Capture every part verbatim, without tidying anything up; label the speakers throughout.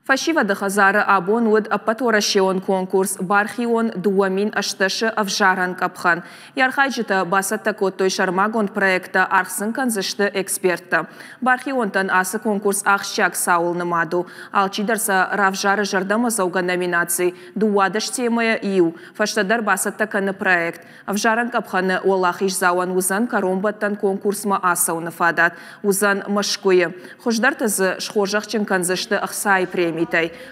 Speaker 1: Фӕсивӕды хӕдзары абон уыд ӕппӕтуӕрӕсеон конкурс Бархион дыууӕ мин ӕстдӕс-ы ӕвзарӕн къӕпхӕн. Йӕ архайджытӕ бацӕттӕ кодтой сӕрмагонд проекттӕ, аргъ сын кӕндзысты эксперттӕ. Бархионтӕн ацы конкурс ахсджиаг цауыл нымад у. Алчидӕр сӕ равзары зӕрдӕмӕдзӕугӕ номинаци, дыууадӕс темӕйӕ иу. Фӕстӕдӕр бацӕттӕ кӕны проект. Ӕвзарӕн къӕпхӕны уӕлахиздзауӕн уыдзӕн кӕронбӕттӕн конкурсмӕ ацӕуыны фадат. Уыдзӕн Мӕскуыйы. Хуыздӕрты дзы схорзӕхджын кӕндзысты ӕхцайы премитӕй.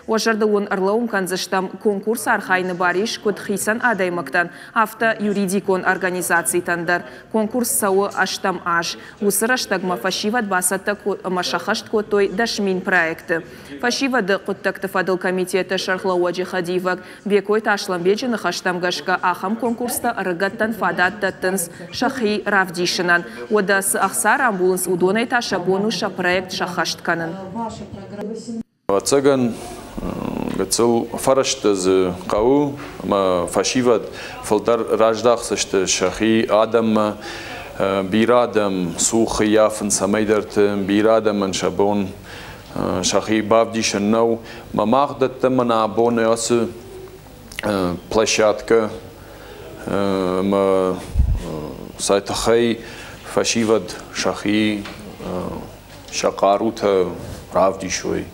Speaker 1: Уӕ зӕрдыл уын ӕрлӕууын кӕндзыстӕм, конкурсы архайыны бар ис куыд хицӕн адӕймӕгтӕн, афтӕ юридикон организацитӕн дӕр. Конкурс цӕуы ӕстӕм аз. Уыцы рӕстӕгмӕ фӕсивӕд бацӕттӕ ӕмӕ сӕххӕст кодтой дӕс мин проекты. Фӕсивӕды хъуыддӕгты фӕдыл комитеты сӕргълӕууӕджы хӕдивӕг Бекойты Аслӕнбеджы ныхӕстӕм гӕсгӕ, ахӕм конкурстӕ ӕрыгӕттӕн фадат дӕттынц сӕхи равдисынӕн. Уӕдӕ цы ӕхца рамбулынц, уыдонӕй та сӕ бон у сӕ проект сӕххӕст кӕнын.
Speaker 2: Ӕвӕццӕгӕн, гыццыл фӕрӕзтӕ дзы хъӕуы, ӕмӕ фӕсивӕд фылдӕр раздахдзысты сӕхи адӕммӕ. Бирӕ адӕм цух ӕййафынц цӕмӕйдӕрты, бирӕ адӕмӕн сӕ бон сӕхи бавдисын нӕу. Мӕ мах дӕттӕм мӕнӕ абон ацы площадкӕ, ӕмӕ сӕ тыххӕй фӕсивӕд сӕхи сӕ хъарутӕ равдисой.